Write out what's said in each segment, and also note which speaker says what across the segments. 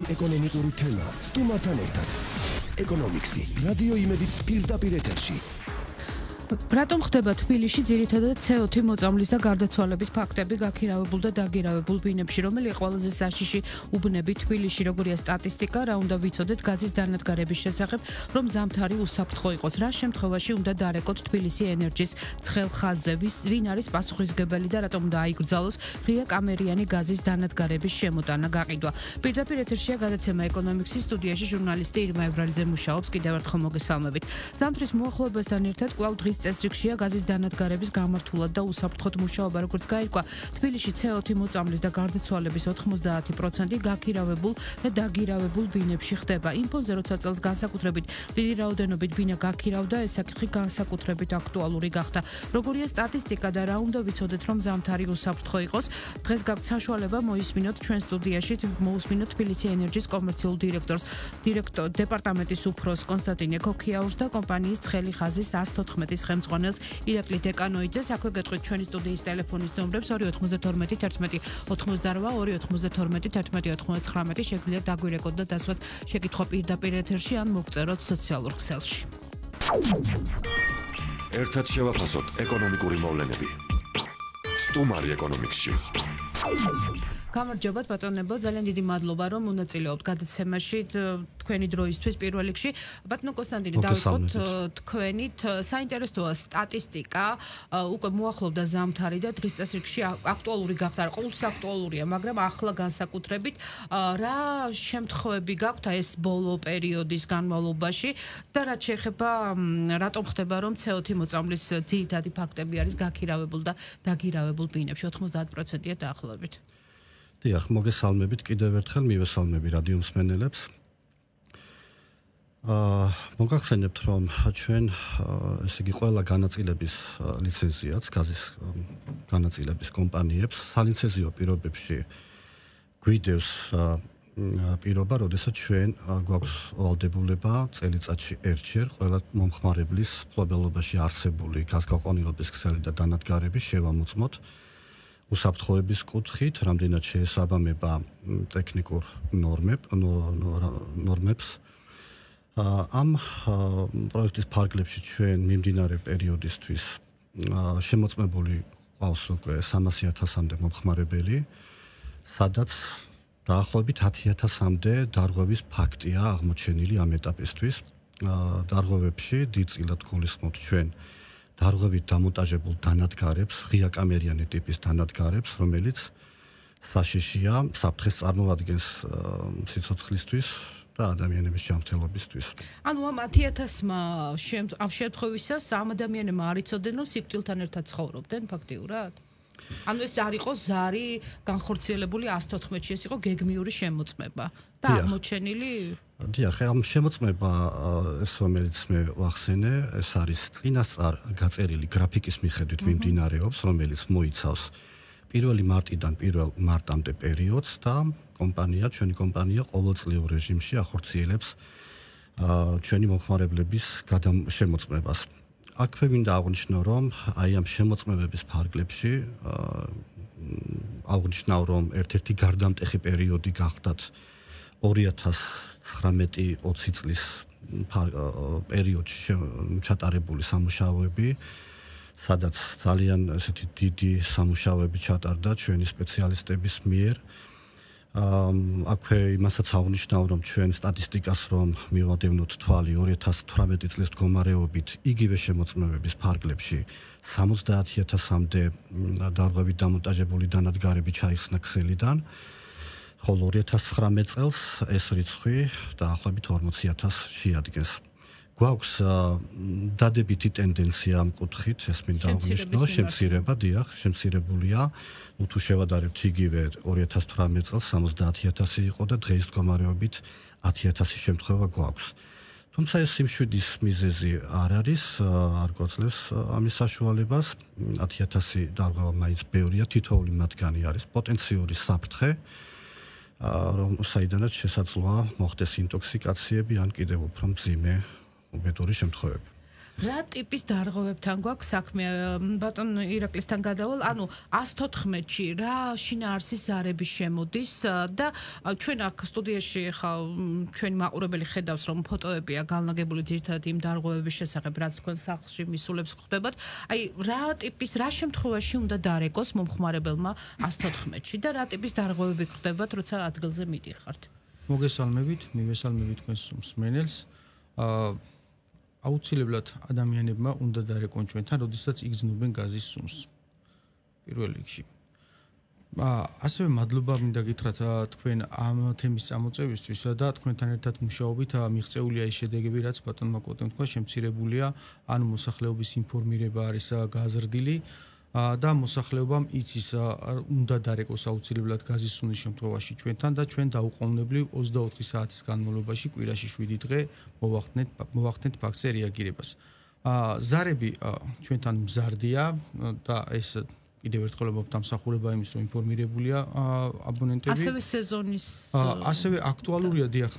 Speaker 1: ეკონომიკური თემა სტუმართან ერთად. ეკონომიქსი, რადიო იმედიც პირდაპირ ეთერში.
Speaker 2: რატომ ხდება თბილისში ძირითადად CO2 მოწამვლის და გარდაცვალების ფაქტები გაქირავებულ და დაგირავებულ ბინებში, რომელიც ყველაზე საშიში უბნები თბილისში, როგორია სტატისტიკა, რა უნდა ვიცოდეთ გაზის დანადგარების შესახებ, რომ ზამთარი უსაფრთხო იყოს. რა შემთხვევაში უნდა დარეკოთ თბილისი ენერჯის ცხელ ხაზზე, ვინ არის პასუხისმგებელი და რატომ უნდა აიგრძალოს ღია კამერიანი გაზის დანადგარების შემოტანა გაყიდვა. პირდაპირ ეთერშია გადაცემა ეკონომიქსის სტუდიაში ჟურნალისტი ირმა ებრალიძე მუშაობს. კიდევ ერთხელ მოგესალმებით. ზამთრის მოახლოებასთან ერთად კვლავ წესრიგშია გაზის დანადგარების გამართულად და უსაფრთხოდ მუშაობა, როგორც გაირკვა. თბილისში CO2 მოწამვლის და გარდაცვალების 90% გაქირავებულ და დაგირავებულ ბინებში ხდება. ინფონზე როცა წელს განსაკუთრებით დიდი რაოდენობით ბინა გაქირავდა, ეს საკითხი განსაკუთრებით აქტუალური გახდა. როგორია სტატისტიკა და რა უნდა ვიცოდეთ, რომ ზამთარი უსაფრთხო იყოს? დღეს გაქვთ საშუალება მოისმინოთ ჩვენ სტუდიაში, მოусმინოთ თბილისი ენერჯის კომერციულ დირექტორს, დეპარტამენტის უფროს კონსტანტინე ქოქიაურს და კომპანიის ცხელი ხაზის 114 ხელმძღვანელს ირაკლი დეკანოიძეს. აქვე გეტყვით ჩვენი სტუდიის ტელეფონის ნომრებს 292 11 88 292 11 99 შეგიძლიათ დაგვირეკოთ და დასვათ შეკითხვა პირდაპირ ეთერში ან მოგწეროთ სოციალურ ქსელში.
Speaker 1: ერთად შევაფასოთ ეკონომიკური მოვლენები. სტუმარი ეკონომიქსში.
Speaker 2: გამარჯობათ ბატონებო, ძალიან დიდი მადლობა რომ მონაწილეობთ გადაცემაში თქვენი დროისთვის პირველ რიგში. ბატონო კონსტანტინე, დავიწყოთ თქვენით. საინტერესოა სტატისტიკა, უკვე მოახლოვდა ზამთარი და დღის წესრიგში აქტუალური გახდა, ყოველთვის აქტუალურია, მაგრამ ახლა განსაკუთრებით რა შემთხვევები გაქვთ ეს ბოლო პერიოდის განმავლობაში და რაც შეეხება რატომ ხდება რომ CO2 მოწამვლის ძირითადი ფაქტები არის გაქირავებულ და დაგირავებულ ბინებში 90%-ია დაახლოებით.
Speaker 3: დიახ, მოგესალმებით კიდევ ერთხელ, მივესალმები რადიო მსმენელებს. მოგახსენებთ, რომ ჩვენ ესე იგი ყველა განაწილების ლიცენზიაც, გაზის განაწილების კომპანიებს სალიცენზიო პირობებში გვიდევს პირობა, როდესაც ჩვენ გვაქვს ვალდებულება წელიწადში ერთჯერ ყველა მომხმარებლის მფლობელობაში არსებული გაზგაყვანილობის ქსელი და დანადგარების შევამოწმოთ უსაფრთხოების კუთხით, რამდენად შეესაბამება ტექნიკურ ნორმებს. ამ პროექტის ფარგლებში ჩვენ მიმდინარე პერიოდისთვის შემოწმებული ყავს უკვე 300,000-მდე მომხმარებელი, სადაც დაახლოებით 10,000-მდე დარღვევის ფაქტია აღმოჩენილი ამ ეტაპისთვის. დარღვევებში დიდწილად გულისხმობთ ჩვენ დარღვევით დამონტაჟებულ დანადგარებს, ღია კამერიანი ტიპის დანადგარებს, რომელიც საშიშია საფრთხეს წარმოადგენს სიცოცხლისთვის და ადამიანების ჯანმრთელობისთვის.
Speaker 2: ანუ ამ 10,000-მა ამ შემთხვევისას ამ ადამიანებმა არ იცოდნენ, რომ სიკვდილთან ერთად ცხოვრობდნენ ფაქტიურად? ანუ ეს არ იყო ზარი განხორციელებული 114-ში, ეს იყო გეგმიური შემოწმება და აღმოჩენილი
Speaker 3: დიახ, ამ შემოწმება ეს რომელიც მე ვახსენე, ეს არის წინასწარ გაწერილი გრაფიკის მიხედვით მიმდინარეობს, რომელიც მოიცავს 1 მარტიდან 1 მარტამდე პერიოდს და ჩვენი კომპანია ყოველწლიურ რეჟიმში ახორციელებს ჩვენი მომხმარებლების შემოწმებას. აქვე მინდა აღვნიშნო, რომ აი ამ შემოწმებების ფარგლებში აღვნიშნავ, რომ ერთ-ერთი გარდამტეხი პერიოდი გახდათ 2019-20 წლის პერიოდში ჩატარებული სამუშაოები, სადაც ძალიან ესეთი დიდი სამუშაოები ჩატარდა ჩვენი სპეციალისტების მიერ. აქვე იმასაც აღვნიშნავ, რომ ჩვენ სტატისტიკას რომ მივადევნოთ თვალი 2018 წლის მდგომარეობით იგივე შემოწმებების ფარგლებში 70,000-მდე დარღვევით დამონტაჟებული დანადგარები ჩაიხსნა ქსელიდან, ხოლო 2019 წელს ეს რიცხვი დაახლოებით 40,000 შეადგენს. გვაქვს დადებითი ტენდენცია ამ კუთხით, ეს მინდა აღვნიშნო, შემცირება, დიახ, შემცირებულია. თუ შევადარებთ იგივე 2018 წელს 70,000 იყო და დღეს მდგომარეობით 10,000 შემთხვევა გვაქვს. თუმცა ეს სიმშვიდის მიზეზი არ არის, არ გვაძლევს ამის საშუალებას. 10,000 დარღვევა მაინც ბევრია, თითოეული მათგანი არის პოტენციური საფრთხე, საიდანაც შესაძლოა მოხდეს ინტოქსიკაციები ან კიდევ უფრო მძიმე უბედური შემთხვევები.
Speaker 2: რა ტიპის დარღვევებთან გვაქვს საქმე? ბატონ ირაკლისთან გადავალ, ანუ 114-ში რა შინაარსის ზარები შემოდის და ჩვენ აქ სტუდიაში ხა ჩვენი მაყურებელი ხედავს, რომ ფოტოებია განლაგებული ძირითადად იმ დარღვევების შესახებ, რაც თქვენ სახლში მისულებს ხდებათ. აი, რა ტიპის, რა შემთხვევაში უნდა დარეკოს მომხმარებელმა 114-ში და რა ტიპის დარღვევები ხდებათ, როცა ადგილზე მიდიხართ?
Speaker 4: მოგესალმებით, მივესალმებით თქვენს მსმენელს. აუცილებლად ადამიანებმა უნდა დარეკონ ჩვენთან, როდესაც იგრძნობენ გაზის სუნს. პირველ რიგში. ასევე მადლობა მინდა გითხრათ თქვენ ამ თემის წამოწევისთვის და თქვენთან ერთად მუშაობით მიღწეულია ის შედეგები, რაც ბატონმა კოტემ თქვა, შემცირებულია, ანუ მოსახლეობის ინფორმირება არის გაზრდილი და მოსახლეობამ იცის უნდა დარეკოს აუცილებლად გაზის სუნის შემთხვევაში ჩვენთან და ჩვენ დაუყოვნებლივ 24 საათის განმავლობაში კვირაში 7 დღე მოვახდენთ ფაქტზე რეაგირებას. ზარები ჩვენთან მზარდია და ეს კიდევ ერთხელ მომთამსახურება იმის, რომ ინფორმირებულია აბონენტები.
Speaker 2: ასევე სეზონის
Speaker 4: ასევე აქტუალურია, დიახ,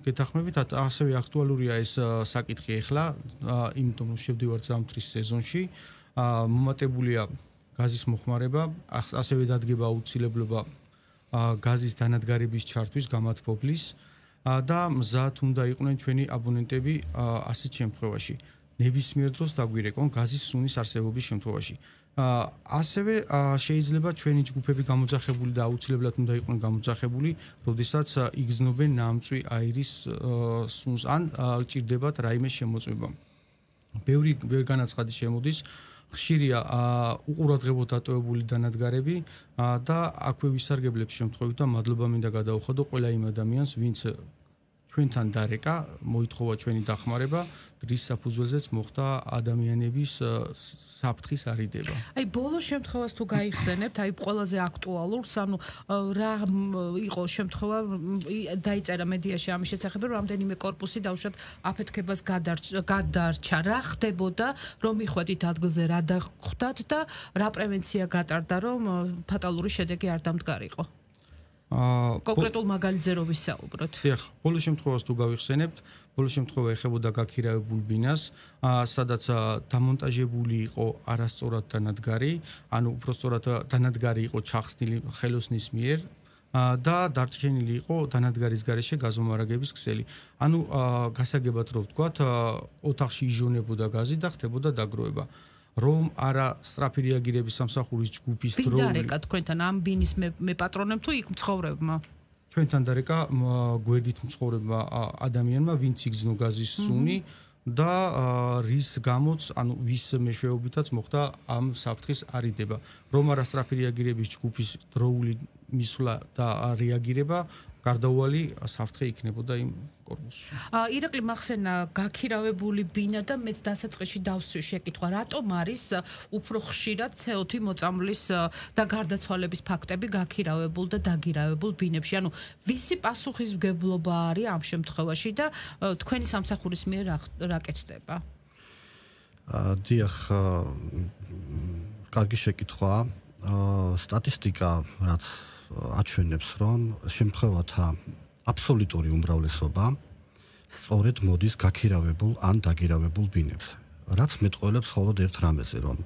Speaker 4: გეთახმებით, ასევე აქტუალურია ეს საკითხი ახლა, იმიტომ რომ შევდივართ ზამთრის სეზონში. მომატებულია გაზის მოხმარება, ასევე დადგება აუცილებლობა გაზის დანადგარების ჩართვის გამათბობლის და მზად უნდა იყვნენ ჩვენი აბონენტები ასეთ შემთხვევაში. ნებისმიერ დროს დაგვირეკონ გაზის სუნის არსებობის შემთხვევაში. ასევე შეიძლება ჩვენი ჯგუფები გამოძახებული და აუცილებლად უნდა იყვნენ გამოძახებული, როდესაც იგრძნობენ ნამწვი აირის სუნს ან ჭირდებათ რაიმე შემოწმება. ბევრი განაცხადი შემოდის, ხშირია უყურადღებოდ დატოვებული დანადგარები და აქვე ვისარგებლებ შემთხვევით და მადლობა მინდა გადაუხადო ყველა იმ ადამიანს, ვინც ჩვენთან დარეკა, მოითხოვა ჩვენი დახმარება, რის საფუძველზეც მოხდა ადამიანების საფრთხის არიდება.
Speaker 2: აი, ბოლო შემთხვევას თუ გაიხსენებთ, აი ყველაზე აქტუალურს, ანუ რა იყო შემთხვევა, დაიწერა მედიაში ამის შესახებ, რომ რამდენიმე კორპუსი დაუშვათ აფეთქებას გადარჩა. რა ხდებოდა, რომ მიხვედით ადგილზე რა დახვდათ და რა პრევენცია გატარდა, რომ ფატალური შედეგი არ დამდგარიყო? კონკრეტულ მაგალითზე რო ვისაუბროთ.
Speaker 4: დიახ, ბოლო შემთხვევას თუ გავიხსენებთ, ბოლო შემთხვევა ეხებოდა გაქირავებულ ბინას, სადაც დამონტაჟებული იყო არასწორად დანადგარი, ანუ უბრალოდ დანადგარი იყო ჩახსნილი ხელოსნის მიერ და დარჩენილი იყო დანადგარის გარეშე გაზომარაგების ქსელი. ანუ გასაგებად რო ვთქვათ, ოთახში იჟონებოდა გაზი და ხდებოდა დაგროვება. რომ არა სწრაფი რეაგირების სამსახურის ჯგუფის დროული.
Speaker 2: ვინ დარეკა თქვენთან ამ ბინის მეპატრონებმა თუ იქ მცხოვრებმა?
Speaker 4: ჩვენთან დარეკა გვერდით მცხოვრებმა ადამიანმა, ვინც იგრძნო გაზის სუნი და რის გამოც, ანუ ვის მეშვეობითაც მოხდა ამ საფრთხის არიდება. რომ არა სწრაფი რეაგირების ჯგუფის დროული მისვლა და რეაგირება, გარდაუვალი საფრთხე იქნებოდა იმ კორპუსში.
Speaker 2: ირაკლი მახსენა გაქირავებული ბინა და მეც დასაწყისში დავსვი შეკითხვა, რატომ არის უფრო ხშირად CO2 მოწამვლის და გარდაცვალების ფაქტები გაქირავებულ და დაგირავებულ ბინებში? ანუ ვისი პასუხისმგებლობა არის ამ შემთხვევაში და თქვენი სამსახურის მიერ რა კეთდება?
Speaker 3: დიახ, კარგი შეკითხვაა. სტატისტიკა რაც აჩვენებს, რომ შემთხვევათა აბსოლუტური უმრავლესობა სწორედ მოდის გაქირავებულ ან დაგირავებულ ბინებზე. რაც მეტყველებს მხოლოდ ერთ რამეზე, რომ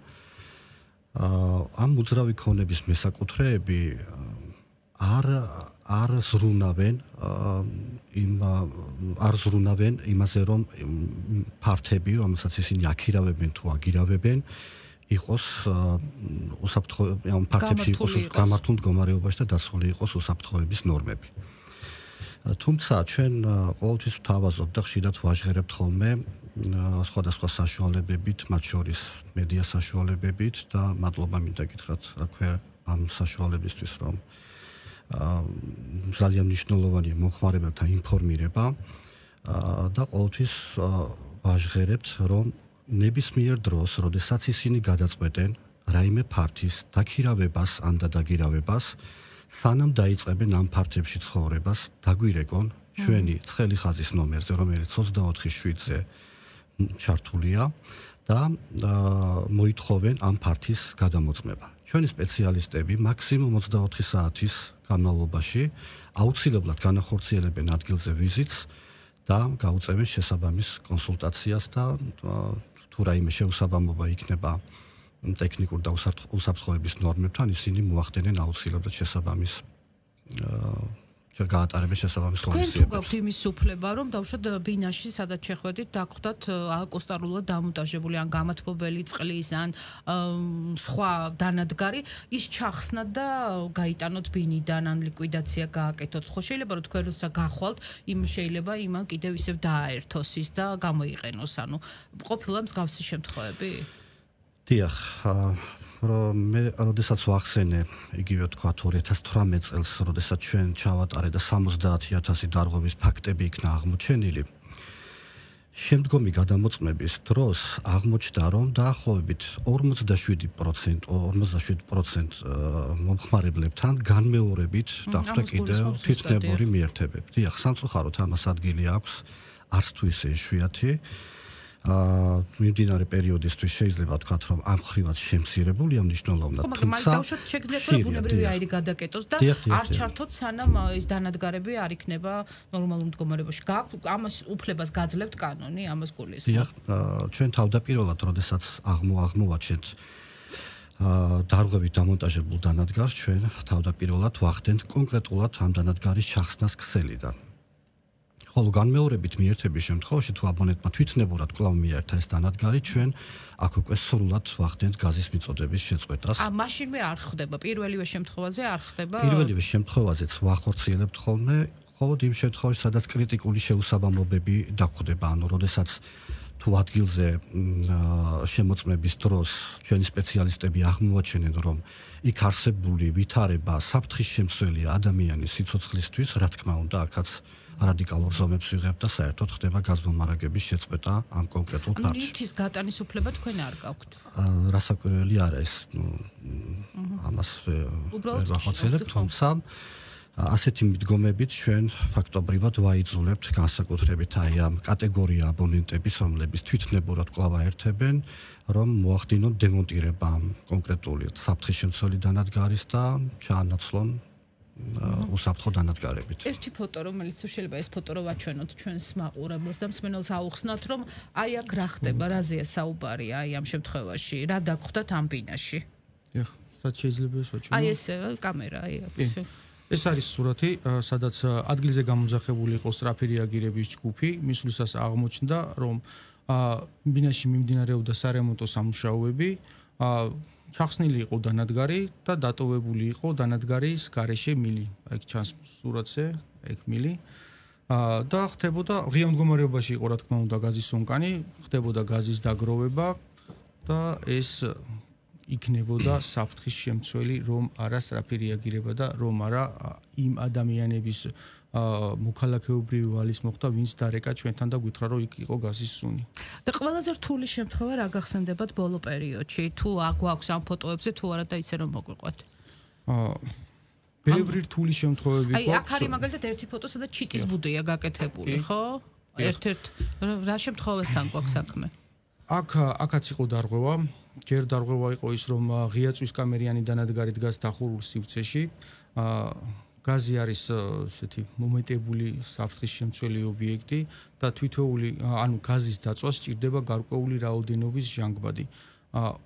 Speaker 3: ამ უძრავი ქონების მესაკუთრეები არ ზრუნავენ იმაზე, რომ ფართები, რომელსაც ისინი აქირავებენ თუ აგირავებენ, იყოს უსაფრთხო ამ ფაქტებში იყოს გამართულ მდგომარეობაში და დაცული იყოს უსაფრთხოების ნორმები. თუმცა ჩვენ ყოველთვის ვთავაზობთ და ხშირად ვაჟღერებთ ხოლმე სხვადასხვა საშუალებებით, მათ შორის მედია საშუალებებით და მადლობა მინდა გითხრათ აქვე ამ საშუალებისთვის, რომ ძალიან მნიშვნელოვანია მომხმარებელთა ინფორმირება და ყოველთვის ვაჟღერებთ, რომ ნებისმიერ დროს, როდესაც ისინი გადაწყვეტენ რაიმე ფართის დაქირავებას ან დაგირავებას, სანამ დაიწყებენ ამ ფართებში ცხოვრებას, დაგვირეკონ ჩვენი ცხელი ხაზის ნომერზე, რომელიც 24/7-ზე ჩართულია და მოითხოვენ ამ ფართის გადამოწმება. ჩვენი სპეციალისტები მაქსიმუმ 24 საათის განმავლობაში აუცილებლად განახორციელებენ ადგილზე ვიზიტს და გაუწევენ შესაბამის კონსულტაციას და თუ რაიმე შეუსაბამობა იქნება ტექნიკურ და უსაფრთხოების ნორმებთან, ისინი მოახდენენ აუცილებლად შესაბამის გაატარებენ შესაბამის ღონისძიებებს.
Speaker 2: თქვენ თუ გაქვთ იმის უფლება, რომ დავუშვათ ბინაში, სადაც შეხვედით, დაგხვდათ აკუსტარულად დამონტაჟებული ან გამათბობელი წყლის ან სხვა დანადგარი, ის ჩახსნათ და გაიტანოთ ბინიდან ან ლიკვიდაცია გააკეთოთ. ხო შეიძლება რომ თქვენ როცა გახვალთ, შეიძლება იმან კიდევ ისევ დააერთოს ის და გამოიყენოს, ანუ ყოფილა მსგავსი შემთხვევები?
Speaker 3: დიახ, რომ მე როდესაც ვახსენე იგივე თქვა 2018 წელს, როდესაც ჩვენ ჩავატარე და 70000 დარღვევის ფაქტები იქნა აღმოჩენილი. შემდგომი გადამოწმების დროს აღმოჩნდა, რომ დაახლოებით 47% მომხმარებლებთან განმეორებით დახვდა კიდევ თვითნებური მიერთებები. დიახ, სამწუხაროდ ამას ადგილი აქვს, არც თუ ისე იშვიათი. მიმდინარე პერიოდისთვის შეიძლება ვთქვათ, რომ ამ ხრივაც შემცირებულია მნიშვნელოვნად.
Speaker 2: თუმცა დავუშვათ შეგიძლიათ რომ ბუნებრივი აირი გადაკეტოს და არ ჩართოთ სანამ ეს დანადგარები არ იქნება ნორმალურ მდგომარეობაში. ამას უფლებას გაძლევთ კანონი, ამას გულისხმობ.
Speaker 3: დიახ, ჩვენ თავდაპირველად, როდესაც აღმოვაჩენთ დარღვევით დამონტაჟებულ დანადგარს, ჩვენ თავდაპირველად ვახდენთ კონკრეტულად ამ დანადგარის ჩახსნას ქსელიდან. ხოლო განმეორებით მიერთების შემთხვევაში თუ აბონენტმა თვითნებურად კვლავ მიერთა ეს დანადგარი, ჩვენ აქ უკვე სრულად ვახდენთ გაზის მიწოდების შეწყვეტას.
Speaker 2: მაშინვე არ ხდება, პირველივე შემთხვევაზე არ ხდება?
Speaker 3: პირველივე შემთხვევაზეც ვახორციელებთ ხოლმე, ხოლო იმ შემთხვევაში, სადაც კრიტიკული შეუსაბამობები დაგხვდება, ანუ როდესაც თუ ადგილზე შემოწმების დროს ჩვენი სპეციალისტები აღმოაჩენენ, რომ იქ არსებული ვითარება საფრთხის შემცველია ადამიანის სიცოცხლისთვის, რა თქმა უნდა, აქაც რადიკალურ ზომებს ვიღებთ და საერთოდ ხდება გაზმომარაგების შეწყვეტა ამ კონკრეტულ ფაქტში.
Speaker 2: ლიფტის გატანის უფლება თქვენ არ გაქვთ?
Speaker 3: რასაკვირველი არა ეს, ამას ვახორციელებთ, თუმცა ასეთი მიდგომებით ჩვენ ფაქტობრივად ვაიძულებთ განსაკუთრებით აი ამ კატეგორია აბონენტების, რომლებიც თვითნებურად კვლავ აერთებენ, რომ მოახდინონ დემონტირება კონკრეტული საფრთხის შემცველი დანადგარის და ჩაანაცვლონ უსაფრთხო დანადგარებით.
Speaker 2: ერთი ფოტო, რომელიც შეიძლება ეს ფოტო რო ვაჩვენოთ ჩვენს მაყურებელს და მსმენელს აუხსნათ, რომ აი აქ რა ხდება, რაზეა საუბარი აი ამ შემთხვევაში, რა დაგხვდათ ამ ბინაში.
Speaker 4: დიახ, სადაც შეიძლება ეს ვაჩვენო.
Speaker 2: აი ეს კამერა, აი აქ.
Speaker 4: ეს არის სურათი, სადაც ადგილზე გამომძახებული იყო სწრაფი რეაგირების ჯგუფი, მისვლისას აღმოჩნდა, რომ ბინაში მიმდინარეობდა სარემონტო სამუშაოები, ჩახსნილი იყო დანადგარი და დატოვებული იყო დანადგარის გარეშე მილი. აქ ჩანს სურათზე, ეგ მილი. და ხდებოდა ღია მდგომარეობაში იყო, რა თქმა უნდა, გაზის სუნკანი, ხდებოდა გაზის დაგროვება და ეს იქნებოდა საფრთხის შემცველი, რომ არა სწრაფი რეაგირება და რომ არა იმ ადამიანების მოქალაქეობრივი ვალის მოხდა, ვინც დარეკა ჩვენთან და გითხრა, რომ იქ იყო გაზის სუნი.
Speaker 2: და ყველაზე რთული შემთხვევა რა გახსენდებათ ბოლო პერიოდში? თუ აგვაქვს ამ ფოტოებზე, თუ არა და ისე რომ მოგვიყვეთ.
Speaker 4: ბევრი რთული შემთხვევები
Speaker 2: გვაქვს. აი, აქ არის მაგალითად ერთი ფოტო, სადაც ჩიტის ბუდეა გაკეთებული, ხო? ერთ-ერთ რა შემთხვევასთან გვაქვს საქმე?
Speaker 4: აქაც იყო დარღვევა. ჯერ დარღვევა იყო ის, რომ ღია წვის კამერიანი დანადგარი დგას დახურულ სივრცეში. გაზი არის ესეთი მომეტებული საფრთხის შემცველი ობიექტი და თითოეული, ანუ გაზის დაწვას სჭირდება გარკვეული რაოდენობის ჟანგბადი.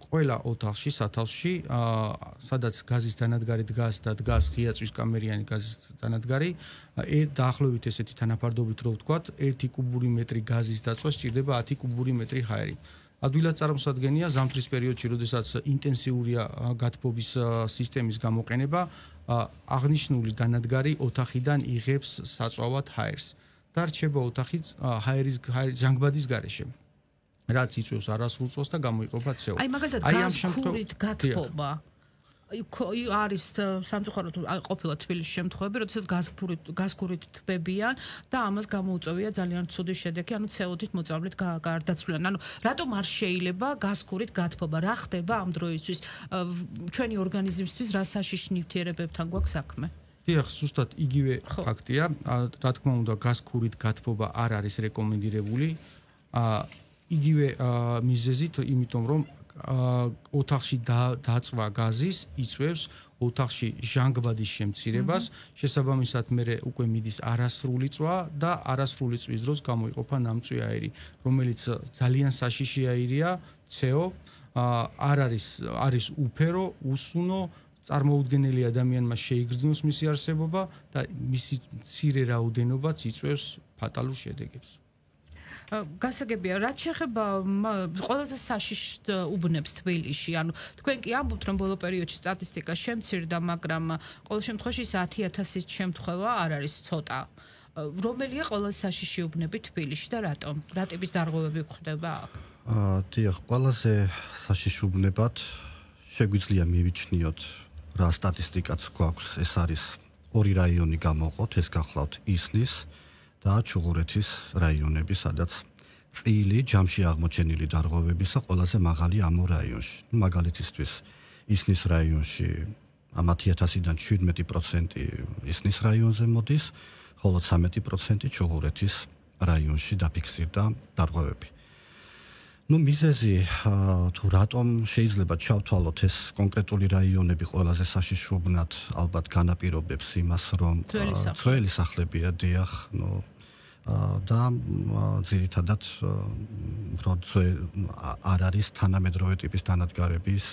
Speaker 4: ყველა ოთახში, სათავსში, სადაც გაზის დანადგარი დგას და დგას ღია წვის კამერიანი გაზის დანადგარი, დაახლოებით ესეთი თანაფარდობით რო ვთქვათ, 1 კუბური მეტრი გაზის დაწვას სჭირდება 10 კუბური მეტრი ჰაერი. ადვილად წარმოსადგენია ზამთრის პერიოდში, როდესაც ინტენსიურია გათბობის სისტემის გამოყენება, აღნიშნული დანადგარი ოთახიდან იღებს საწვავად ჰაერს და რჩება ოთახი ჰაერის ჟანგბადის გარეშე, რაც იწვევს არასრულ წვას და გამოიყოფა CO2.
Speaker 2: აი მაგალითად გაზქურით გათბობა არის სამწუხაროდ ყოფილა თბილისში შემთხვევები, როდესაც გაზქურით თბებიან და ამას გამოუწევია ძალიან ცუდი შედეგი, ანუ CO2-ით მოწამვლით გარდაცვლიან. ანუ რატომ არ შეიძლება გაზქურით გათბობა? რა ხდება ამ დროისთვის ჩვენი ორგანიზმისთვის, რა საშიში ნივთიერებებთან გვაქვს საქმე?
Speaker 4: დიახ, ზუსტად იგივე ფაქტია. რა თქმა უნდა, გაზქურით გათბობა არ არის რეკომენდირებული. იგივე მიზეზით, იმიტომ რომ ოთახში დაწვა გაზის იწვევს ოთახში ჟანგბადის შემცირებას, შესაბამისად მე უკვე მიდის არასრული წვა და არასრული წვის დროს გამოიყოფა ნამწვი აირი, რომელიც ძალიან საშიში აირია, CO, არის უფერო, უსუნო, წარმოუდგენელი ადამიანმა შეიგრძნოს მისი არსებობა და მისი მცირე რაოდენობაც იწვევს ფატალურ შედეგებს.
Speaker 2: გასაგებია, რაც შეეხება ყველაზე საშიშ უბნებს თბილისში, ანუ თქვენ კი ამბობთ, რომ ბოლო პერიოდში სტატისტიკა შემცირდა, მაგრამ ყოველ შემთხვევაში 10,000-ის შემთხვევა არ არის ცოტა. რომელია ყველაზე საშიში უბნები თბილისში და რატომ? რა ტიპის დარღვევები გვხდება აქ?
Speaker 3: დიახ, ყველაზე საშიში უბნებად შეგვიძლია მივიჩნიოთ რა სტატისტიკაც გვაქვს, ეს არის ორი რაიონი გამოვყოთ, ეს გახლავთ ისნის და ჩუღურეთის რაიონები, სადაც წილი ჯამში აღმოჩენილი დარღვევებისა ყველაზე მაღალი ამ რაიონში. მაგალითისთვის ისნის რაიონში ამ 10,000-დან 17% ისნის რაიონზე მოდის, ხოლო 13% ჩუღურეთის რაიონში დაფიქსირდა დარღვევები. მიზეზი თუ რატომ შეიძლება ჩავთვალოთ ეს კონკრეტული რაიონები ყველაზე საშიში უბნად, ალბათ განაპირობებს იმას, რომ ძველი სახლებია, დიახ, და ძირითადად არ არის თანამედროვე ტიპის დანადგარების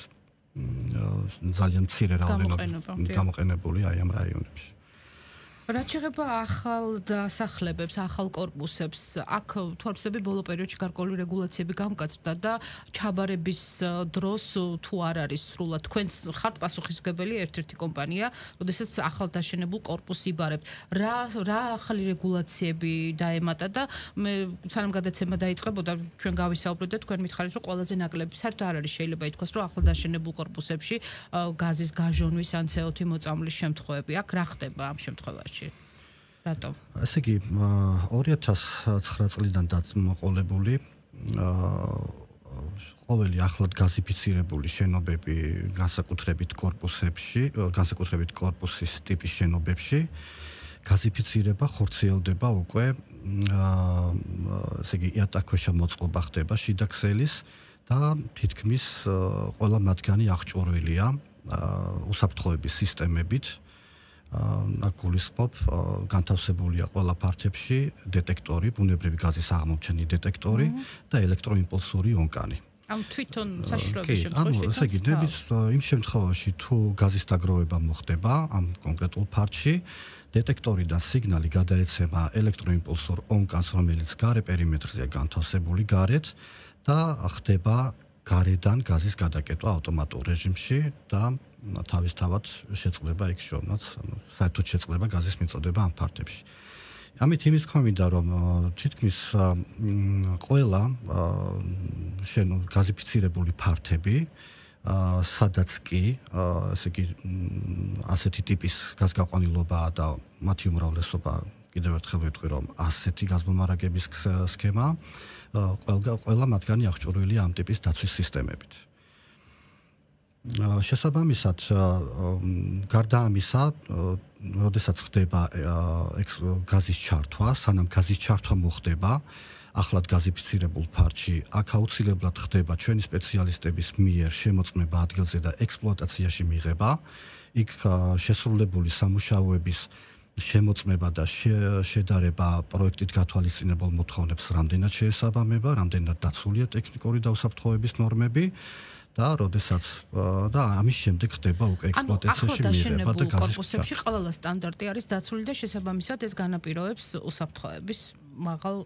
Speaker 3: ძალიან მცირე რაოდენობა გამოყენებული აი ამ რაიონებში.
Speaker 2: რაც შეეხება ახალ დასახლებებს, ახალ კორპუსებს, აქ თვალსები ბოლო პერიოდში გარკვეული რეგულაციები გამკაცდა და ჩაბარების დროს თუ არ არის სრულად თქვენ ხართ პასუხისმგებელი ერთ-ერთი კომპანია, როდესაც ახალ დაშენებულ კორპუსს იბარებთ. რა ახალი რეგულაციები დაემატა და მე სანამ გადაცემა დაიწყებოდა, ჩვენ გავისაუბრეთ და თქვენ მითხარით, რომ ყველაზე ნაკლები საერთოდ არ არის, შეიძლება ითქვას, რომ ახალ დაშენებულ კორპუსებში გაზის გაჟონვის ან CO2 მოწამვლის შემთხვევები. აქ რა ხდება ამ შემთხვევაში? რატომ?
Speaker 3: ესე იგი 2009 წლიდან დაყოლებული ყოველი ახლად გაზიფიცირებული შენობები განსაკუთრებით კორპუსის ტიპის შენობებში გაზიფიცირება ხორციელდება უკვე ესე იგი იატაკქვეშა მოწყობა ხდება შიდა ქსელის და თითქმის ყველა მათგანი აღჭურვილია უსაფრთხოების სისტემებით. აქ გულისხმობ განთავსებულია ყველა ფართებში დეტექტორი, ბუნებრივი გაზის აღმოჩენის დეტექტორი და ელექტროიმპულსური ონკანი.
Speaker 2: ამ თვითონ საშუალების შემთხვევაში
Speaker 3: ესე იგი, იმ შემთხვევაში თუ გაზის დაგროვება მოხდება ამ კონკრეტულ ფართში, დეტექტორიდან სიგნალი გადაეცემა ელექტროიმპულსურ ონკანს, რომელიც გარე პერიმეტრზეა განთავსებული გარეთ და ხდება გარედან გაზის გადაკეტვა ავტომატურ რეჟიმში და თავისთავად შეწყდება იქ შოვნაც, საერთოდ შეწყდება გაზის მიწოდება ამ ფართებში. ამით იმის თქმა მინდა, რომ თითქმის ყველა გაზიფიცირებული ფართები, სადაც კი, ესე იგი, ასეთი ტიპის გაზგაყვანილობაა და მათი უმრავლესობა კიდევ ერთხელ ვიტყვი, რომ ასეთი გაზმომარაგების სქემა ყველა მათგანი აღჭურვილია ამ ტიპის დაცვის სისტემებით. შესაბამისად, გარდა ამისა, როდესაც ხდება გაზის ჩართვა, სანამ გაზის ჩართვა მოხდება, ახლად გაზიფიცირებულ ფართში, აქ აუცილებლად ხდება ჩვენი სპეციალისტების მიერ შემოწმება ადგილზე და ექსპლუატაციაში მიღება, იქ შესრულებული სამუშაოების შემოწმება და შედარება პროექტით გათვალისწინებულ მოთხოვნებს რამდენად შეესაბამება, რამდენად დაცულია ტექნიკური და უსაფრთხოების ნორმები და როდესაც და ამის შემდეგ ხდება უკვე ექსპლუატაციაში მიღება და გაზის
Speaker 2: კორპუსებში ყველა სტანდარტი არის დაცული და შესაბამისად ეს განაპირობებს უსაფრთხოების მაღალ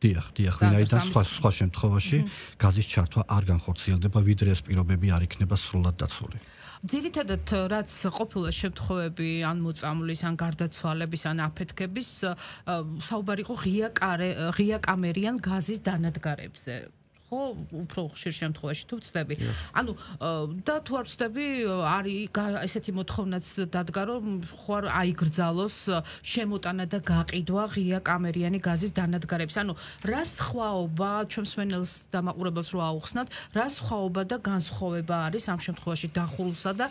Speaker 3: დიახ, ვინაიდან სხვა შემთხვევაში გაზის ჩართვა არ განხორციელდება, ვიდრე ეს პირობები არ იქნება სრულად დაცული.
Speaker 2: ძირითადად რაც ყოფილა შემთხვევები ან მოწამვლის ან გარდაცვალების ან აფეთქების საუბარი იყო ღია კამერიან გაზის დანადგარებზე. ხო, უფრო ხშირ შემთხვევაში თუ ვწდები. ანუ და თუ არ ვწდები, არის ესეთი მოთხოვნაც დადგა, რომ ხوار აიგრძალოს შემოტანა და გაყიდვა ღია კამერიანი გაზის დანადგარებს. ანუ რა სხვაობა ჩვენ მსმენელს და მაყურებელს რო აუხსნათ, რა სხვაობა და განსხვავება არის ამ შემთხვევაში დახურულსა და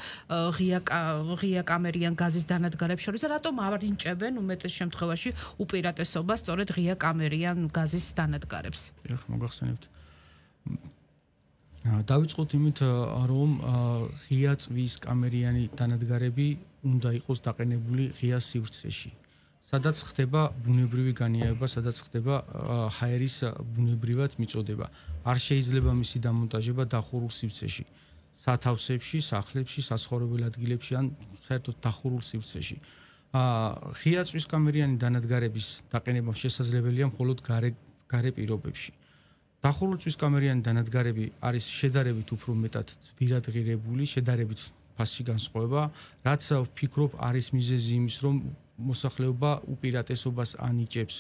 Speaker 2: ღია კამერიან გაზის დანადგარებს შორის და რატომ არ ინჭებენ უმეტეს შემთხვევაში უპირატესობას სწორედ ღია კამერიან გაზის დანადგარებს?
Speaker 4: ეხლა მოგახსენებთ. დავიწყოთ იმით, რომ ღია წვის კამერიანი დანადგარები უნდა იყოს დაყენებული ღია სივრცეში. სადაც ხდება ბუნებრივი განიარება, სადაც ხდება ჰაერის ბუნებრივად მიწოდება. არ შეიძლება მისი დამონტაჟება დახურულ სივრცეში. სათავსებში, სახლებში, საცხოვრებელ ადგილებში ან საერთოდ დახურულ სივრცეში. ღია წვის კამერიანი დანადგარების დაყენება შესაძლებელია მხოლოდ გარე პირობებში. დახურულ წვის კამერიანი დანადგარები არის შედარებით უფრო მეტად ძვირადღირებული, შედარებით ფასში განსხვავება, რაც ვფიქრობ არის მიზეზი იმის, რომ მოსახლეობა უპირატესობას ანიჭებს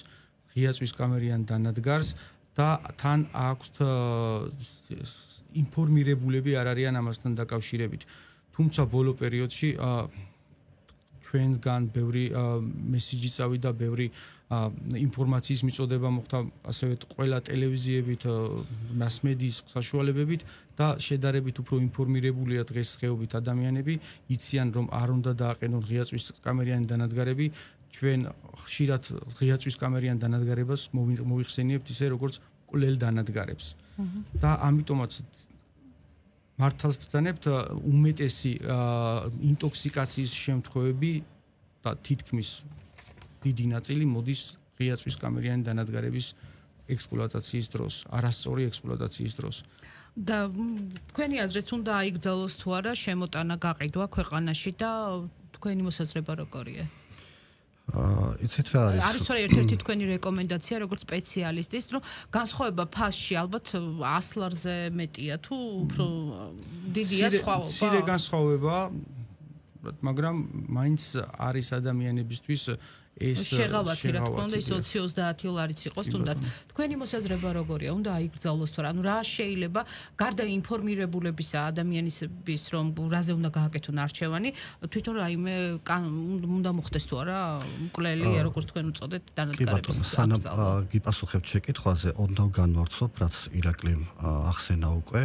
Speaker 4: ღია წვის კამერიან დანადგარს და თან აქვს ინფორმირებულები არ არიან ამასთან დაკავშირებით. თუმცა ბოლო პერიოდში ჩვენგან ბევრი მესიჯი წავიდა, ბევრი ინფორმაციის მიწოდება მოხდა ასევე ყველა ტელევიზიებით, მასმედიის საშუალებებით და შედარებით უფრო ინფორმირებულია დღესდღეობით ადამიანები, იციან რომ არ უნდა დააყენონ ღია წვის კამერიანი დანადგარები, ჩვენ ხშირად ღია წვის კამერიან დანადგარებას მოიხსენიებთ ისე როგორც კვლელ დანადგარებს. და ამიტომაც მართალს ვბრძანებთ უმეტესი ინტოქსიკაციის შემთხვევები და თითქმის დიდი ნაწილი მოდის ღია წვის კამერიანი დანადგარების ექსპლუატაციის დროს, არასწორი ექსპლუატაციის დროს.
Speaker 2: და თქვენი აზრით უნდა აიგზავნოს თუ არა შემოტანა გაყიდვა ქვეყანაში და თქვენი მოსაზრება როგორია?
Speaker 3: იცით რა არის?
Speaker 2: არის რა ერთ-ერთი თქვენი რეკომენდაცია როგორც სპეციალისტის, რომ განსხვავება ფასში ალბათ 100 ლარზე მეტია თუ უფრო დიდია სხვაობა?
Speaker 4: მცირე განსხვავება, მაგრამ მაინც არის ადამიანებისთვის ეს
Speaker 2: შეღავათი რა თქმა უნდა ის 20-30 ლარიც იყოს თუნდაც თქვენი მოსაზრება როგორია უნდა აიგზავნოს თუ რა ანუ რა შეიძლება გარდა ინფორმირებულებისა ადამიანების რომ რაზე უნდა გააკეთონ არჩევანი თვითონ რაიმე უნდა მოხდეს თუ არა მკვლელი როგორც თქვენ უწოდეთ დანადგარების
Speaker 3: სანამ გიპასუხებთ შეკითხვაზე ოდნავ განვარცხობ რაც ირაკლიმ ახსენა უკვე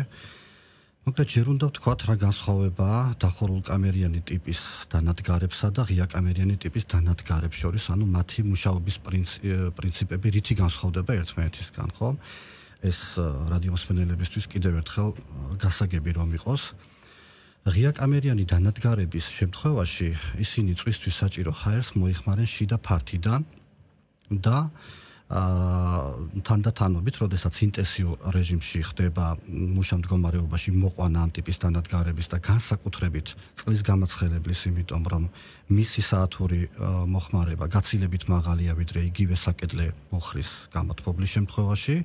Speaker 3: მოკლედ ჯერ უნდა ვთქვათ რა განსხვავებაა დახურულ კამერიანი ტიპის დანადგარებსა და ღია კამერიანი ტიპის დანადგარებს შორის, ანუ მათი მუშაობის პრინციპები რითი განსხვავდება ერთმანეთისგან, ხო? ეს რადიომსმენელებისთვის კიდევ ერთხელ გასაგები რომ იყოს. ღია კამერიანი დანადგარების შემთხვევაში ისინი წვისთვის საჭირო ჰაერს მოიხმარენ შიდა ფართიდან და თანდათანობით, როდესაც ინტენსიურ რეჟიმში ხდება მუშამდგომარეობაში მოყვანა ამ ტიპის დანადგარების და განსაკუთრებით წყლის გამაცხელებლის, იმიტომ რომ მისი საათური მოხმარება გაცილებით მაღალია ვიდრე იგივე საკედლე ბუხრის გამოთბობლის შემთხვევაში,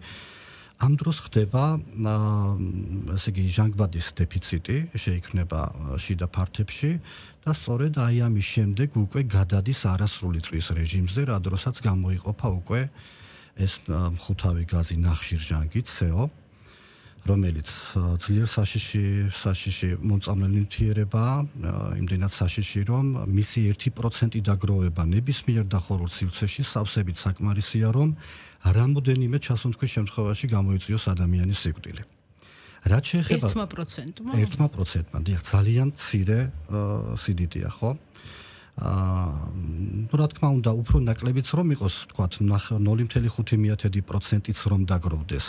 Speaker 3: ამ დროს ხდება ესე იგი ჟანგბადის დეფიციტი შეიქმნება შიდა ფართებში და სწორედ აი ამის შემდეგ უკვე გადადის არასრული წვის რეჟიმზე, რა დროსაც გამოიყოფა უკვე ეს მხუთავი გაზი ნახშირჟანგი CO, რომელიც ძლიერ საშიში მომწამლელი ნივთიერებაა, იმდენად საშიში, რომ მისი 1% დაგროვება ნებისმიერ დახურულ სივრცეში სავსებით საკმარისია, რომ რამოდენიმე ჩასუნთქვის შემთხვევაში გამოიწვიოს ადამიანის სიკვდილი. რაც შეეხება
Speaker 2: 1%-მა?
Speaker 3: 1%-მა, დიახ, ძალიან მცირე სიდიდეა, ხო? რა თქმა უნდა, უფრო ნაკლებიც რომ იყოს, თქვათ, 0.5%-იც რომ დაგროვდეს.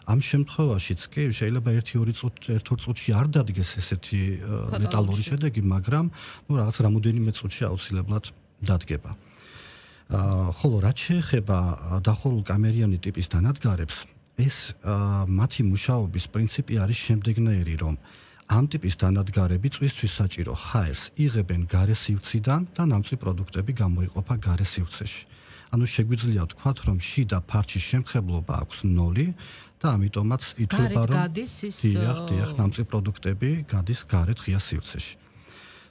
Speaker 3: ამ შემთხვევაშიც კი შეიძლება 1-2 წუთში არ დადგეს ესეთი მეტალური შედეგი, მაგრამ რაღაც რამოდენიმე წუთში აუცილებლად დადგება. ხოლო რაც შეეხება დახურულ კამერიანი ტიპის დანადგარებს, ეს მათი მუშაობის პრინციპი არის შემდეგნაირი, რომ ამ ტიპის დანადგარები წვისთვის საჭირო ჰაერს იღებენ გარე სივრციდან და ნამწვი პროდუქტები გამოიყოფა გარე სივრცეში. ანუ შეგვიძლია ვთქვათ, რომ შიდა ფარჩის შემხებლობა აქვს 0 და ამიტომაც ითვლება, რომ დიახ, ნამწვი პროდუქტები გადის გარეთ ღია სივრცეში.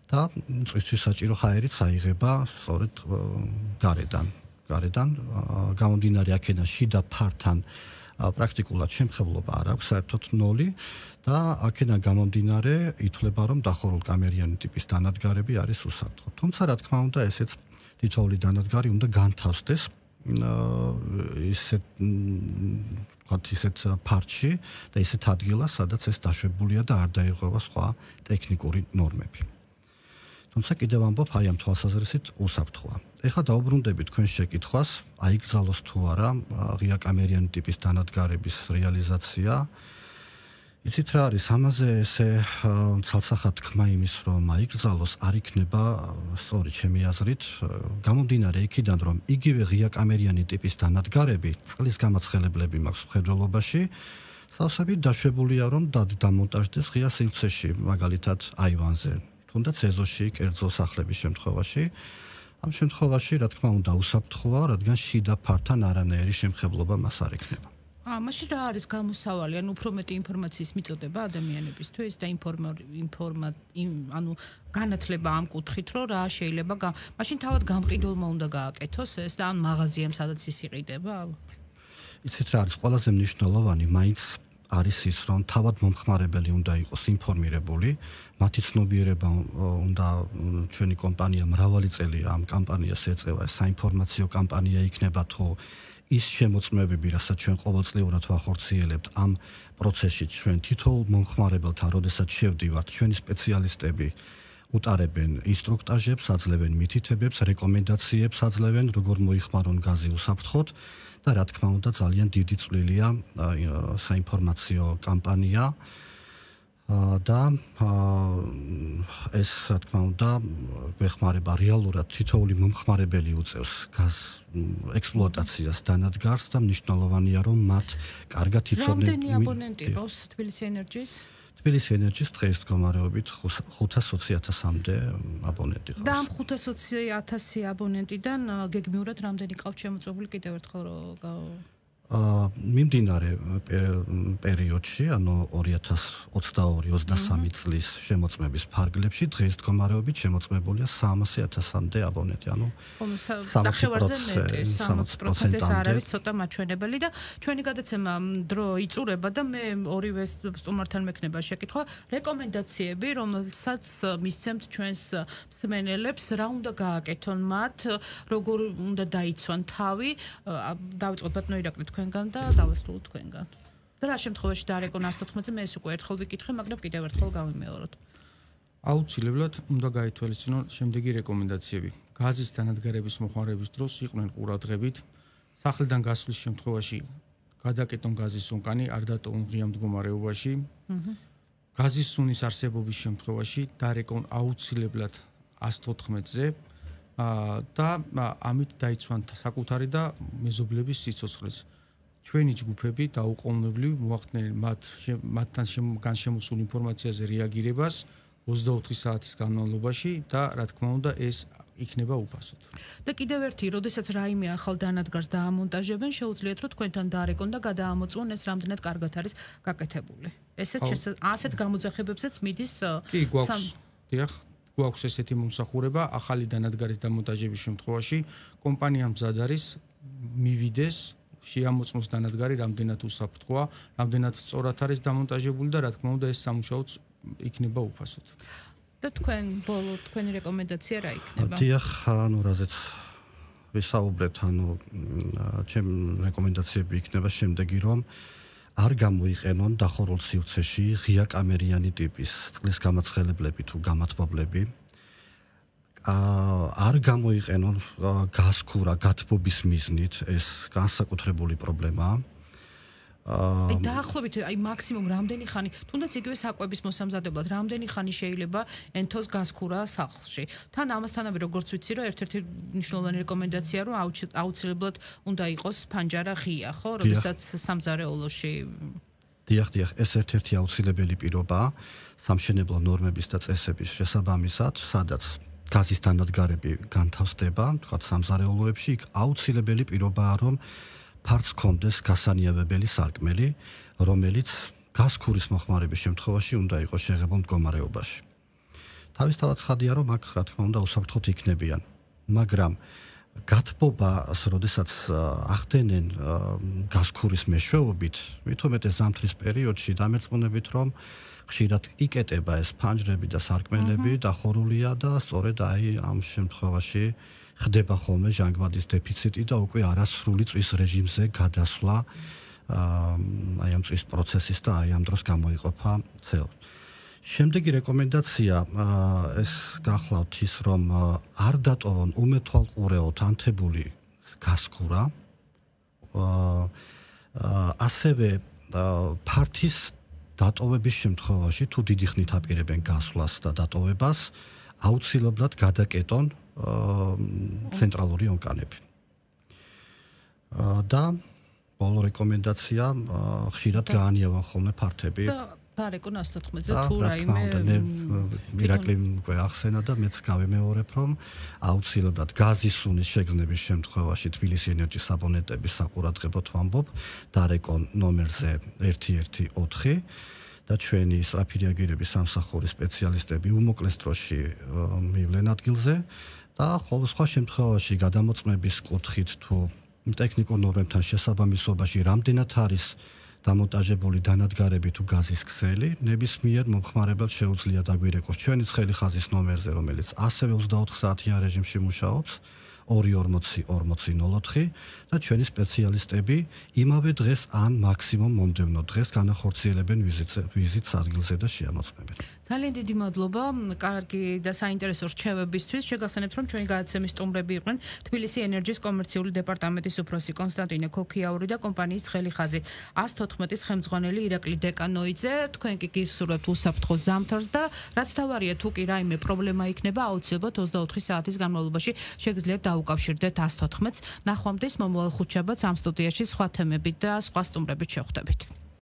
Speaker 3: და წვისთვის საჭირო ჰაერიც აიღება სწორედ გარედან გამომდინარე აქედან შიდა ფართან პრაქტიკულად შემხებლობა არ აქვს საერთოდ 0 და აქედან გამომდინარე ითვლება რომ დახურულ კამერიანი ტიპის დანადგარები არის უსაფრთხო. თუმცა რა თქმა უნდა ესეც თითოეული დანადგარი უნდა განთავსდეს ისეთ ფარჩში და ისეთ ადგილას, სადაც ეს დაშვებულია და არ დაირღვევა სხვა ტექნიკური ნორმები. თუმცა კიდევ ამბობ აი ამ თვალსაზრისით უსაფრთხოა. ეხლა დაუბრუნდებით თქვენ შეკითხვას, აიგზავნოს თუ არა ღია კამერიანი ტიპის დანადგარების რეალიზაცია. იცით რა არის ამაზე ესე ცალსახად თქმა იმის რომ აიკრძალოს არ იქნება სწორი ჩემი აზრით გამომდინარე იქიდან რომ იგივე ღიაკამერიანი ტიპის დანადგარები წყლის გამაცხელებლები მაქვს მხედველობაში სავსებით დაშვებულია რომ დამონტაჟდეს ღია სივრცეში მაგალითად აივანზე თუნდაც ეზოში კერძო სახლების შემთხვევაში ამ შემთხვევაში რა თქმა უნდა უსაფრთხოა რადგან შიდა ფართან არანაირი შემხებლობა მას არ ექნება
Speaker 2: მაშინ რა არის გამოსავალი ანუ უფრო მეტი ინფორმაციის მიწოდება ადამიანებისთვის და ანუ განათლება ამ კუთხით რომ რა შეიძლება მაშინ თავად გამყიდველმა უნდა გააკეთოს ეს და ან მაღაზიამ სადაც ის იყიდება
Speaker 3: იცით რა არის ყველაზე მნიშვნელოვანი მაინც არის ის რომ თავად მომხმარებელი უნდა იყოს ინფორმირებული მათი ცნობიერება უნდა ჩვენი კომპანია მრავალი წელია ამ კამპანიას ეწევა საინფორმაციო კამპანია იქნება თუ ის შემოწმებები, რასაც ჩვენ ყოველწლიურად ვახორციელებთ ამ პროცესში ჩვენ თითოეულ მომხმარებელთან, როდესაც შევდივართ, ჩვენი სპეციალისტები უტარებენ ინსტრუქტაჟებს, აძლევენ მითითებებს, რეკომენდაციებს აძლევენ, როგორ მოიხმარონ გაზი უსაფრთხოდ და რა თქმა უნდა ძალიან დიდი წვლილია საინფორმაციო კამპანია და ეს რა თქმა უნდა გვეხმარება რეალურად თითოეული მომხმარებელი უწევს გაზ ექსპლუატაციას დანადგარს და მნიშვნელოვანია რომ მათ კარგად იცოდნენ
Speaker 2: რამდენი აბონენტი ყავს თბილისი ენერჯის
Speaker 3: თბილისი ენერჯის დღეს მდგომარეობით 520,000-მდე აბონენტი ყავს
Speaker 2: და ამ 520,000 აბონენტიდან გეგმიურად რამდენი ყავს შემოწმებული კიდევ ერთხელ
Speaker 3: მიმდინარე პერიოდში, ანუ 2022-23 წლის შემოწმების ფარგლებში დღეს მდგომარეობით შემოწმებულია 300,000-მდე აბონენტი, ანუ
Speaker 2: 60% ეს არ არის ცოტა მაჩვენებელი და ჩვენი გადაცემა დრო იწურება და მე ორივე სტუმართან მექნება შეკითხვა, რეკომენდაციები, რომელსაც მისცემთ ჩვენს მსმენელებს, რა უნდა გააკეთონ მათ, როგორ უნდა დაიცვან თავი, დავიწყოთ ბატონო ირაკლი თქვენგან და დავასრულოთ თქვენგან. და რა შემთხვევაში დაარეკონ 114-ზე მე ეს უკვე ერთხელ ვიკითხე, მაგრამ კიდევ ერთხელ გავიმეოროთ.
Speaker 4: აუცილებლად უნდა გაითვალისწინონ შემდეგი რეკომენდაციები. გაზის დანადგარების მოხმარების დროს იყვნენ ყურადღებით, სახლიდან გასვლის შემთხვევაში გადაკეტონ გაზის სუნკანი, არ დატოვონ ღია მდგომარეობაში. გაზის სუნის არსებობის შემთხვევაში დაარეკონ აუცილებლად 114-ზე და ამით დაიცვან საკუთარი და მეზობლების სიცოცხლეც. ჩვენი ჯგუფები დაუყოვნებლივ მოახდენენ მათთან განშემოსულ ინფორმაციაზე რეაგირებას 24 საათის განმავლობაში და რა თქმა უნდა ეს იქნება უფასოდ.
Speaker 2: და კიდევ ერთი, როდესაც რაიმე ახალ დანადგარს დაამონტაჟებენ, შეუძლიათ რომ თქვენთან დაარეკონ და გადაამოწმონ ეს რამდენად კარგად არის გაკეთებული. ასეთ გამოძახებებსაც მიდის
Speaker 4: კი გვაქვს ესეთი მომსახურება ახალი დანადგარის დამონტაჟების შემთხვევაში კომპანია მზად არის მივიდეს შეამოწმოს დანადგარი რამდენად უსაფრთხოა, რამდენად სწორად არის დამონტაჟებული და რა თქმა უნდა ეს სამუშაოც იქნება უფასოდ.
Speaker 2: და თქვენი რეკომენდაცია რა იქნება?
Speaker 3: დიახ, ანუ რაზეც ვისაუბრეთ, ანუ ჩემი რეკომენდაციები იქნება შემდეგი, რომ არ გამოიყენონ დახურულ სივრცეში ღია კამერიანი ტიპის წყლის გამაცხელებლები თუ გამათბობლები. არ გამოიყენონ გაზქურა გათბობის მიზნით, ეს განსაკუთრებული პრობლემაა.
Speaker 2: დაახლოებით მაქსიმუმ რამდენი ხანი, თუნდაც იგივე საკვების მოსამზადებლად, რამდენი ხანი შეიძლება ენთოს გაზქურა სახლში. თან ამასთანავე როგორც ვიცი, რომ ერთ-ერთი მნიშვნელოვანი რეკომენდაცია რომ აუცილებლად უნდა იყოს ფანჯარა ღია, ხო, როდესაც სამზარეულოში.
Speaker 3: დიახ, ეს ერთ-ერთი აუცილებელი პირობაა სამშენებლო ნორმების და წესების შესაბამისად, სადაც გაზის დანადგარები განთავსდება, თქვათ სამზარეულოებში, იქ აუცილებელი პირობაა, რომ ფარც კონდეს გასანიავებელი სარკმელი, რომელიც გაზქურის მოხმარების შემთხვევაში უნდა იყოს შეღებულ მდგომარეობაში. თავისთავად ცხადია, რომ აქ რა თქმა უნდა უსაფრთხოდ იქნებიან, მაგრამ გათბობას, როდესაც ახდენენ გაზქურის მეშვეობით, მithumetes ზამთრის პერიოდში დამერწმუნებით, რომ ხშირად იკეტება ეს ფანჯრები და სარკმელები დახურულია და სწორედ ამ შემთხვევაში ხდება ხოლმე ჟანგბადის დეფიციტი და უკვე არასრული წვის რეჟიმზე გადასვლა ამ წვის პროცესის და ამ დროს გამოიყოფა CO2. შემდეგი რეკომენდაცია ეს გახლავთ ის, რომ არ დატოვონ უმეთვალყურეოდ ანთებული გაზქურა, ასევე ფართის დატოვების შემთხვევაში თუ დიდი ხნით აპირებენ გასვლას და დატოვებას, აუცილებლად გადაკეტონ ცენტრალური ონკანები. და ბოლო რეკომენდაცია ხშირად გაანიავან ხოლმე ფართები.
Speaker 2: ფარეკო 114-ზე თუ რაიმე
Speaker 3: მირაკლი უკვე ახსენა და მეც გავემეორებ, რომ აუცილებლად გაზის სუნის შეგრძნების შემთხვევაში თბილისი ენერჯის აბონენტების საყურადღებოდ ვამბობ დარეკო ნომერზე 114 და ჩვენი სწრაფი რეაგირების სამსახურის სპეციალისტები უმოკლეს დროში მივლენ ადგილზე და ხოლო სხვა შემთხვევაში გადამოწმების კუთხით თუ ტექნიკურ ნორმებთან შესაბამისობაში რამდენად არის დამონტაჟებული დანადგარები თუ გაზის ქსელი, ნებისმიერ მომხმარებელს შეუძლია დაგვირეკოს ჩვენი ცხელი ხაზის ნომერზე, რომელიც ასევე 24 საათიან რეჟიმში მუშაობს, 240-40-04 და ჩვენი სპეციალისტები იმავე დღეს ან მაქსიმუმ მომდევნო დღეს განახორციელებენ ვიზიტს ადგილზე და შეამოწმებენ.
Speaker 2: ძალიან დიდი მადლობა, კარგი და საინტერესო რჩევებისთვის. შეგახსენებთ, რომ ჩვენი გადაცემის სტუმრები იყვნენ თბილისი ენერჯის კომერციული დეპარტამენტის უფროსი კონსტანტინე ქოქიაური და კომპანიის ცხელი ხაზი 114-ის ხელმძღვანელი ირაკლი დეკანოიძე. თქვენ კი გისურვებთ უსაფრთხო ზამთარს და რაც თავარია, თუ კი რაიმე პრობლემა იქნება, აუცილებლად 24 საათის განმავლობაში შეგიძლიათ დაუკავშირდეთ 114-ს. ნახვამდის მომავალ ხუთშაბათს ამ სტუდიაში სხვა თემებით და სხვა სტუმრებით შევხვდებით.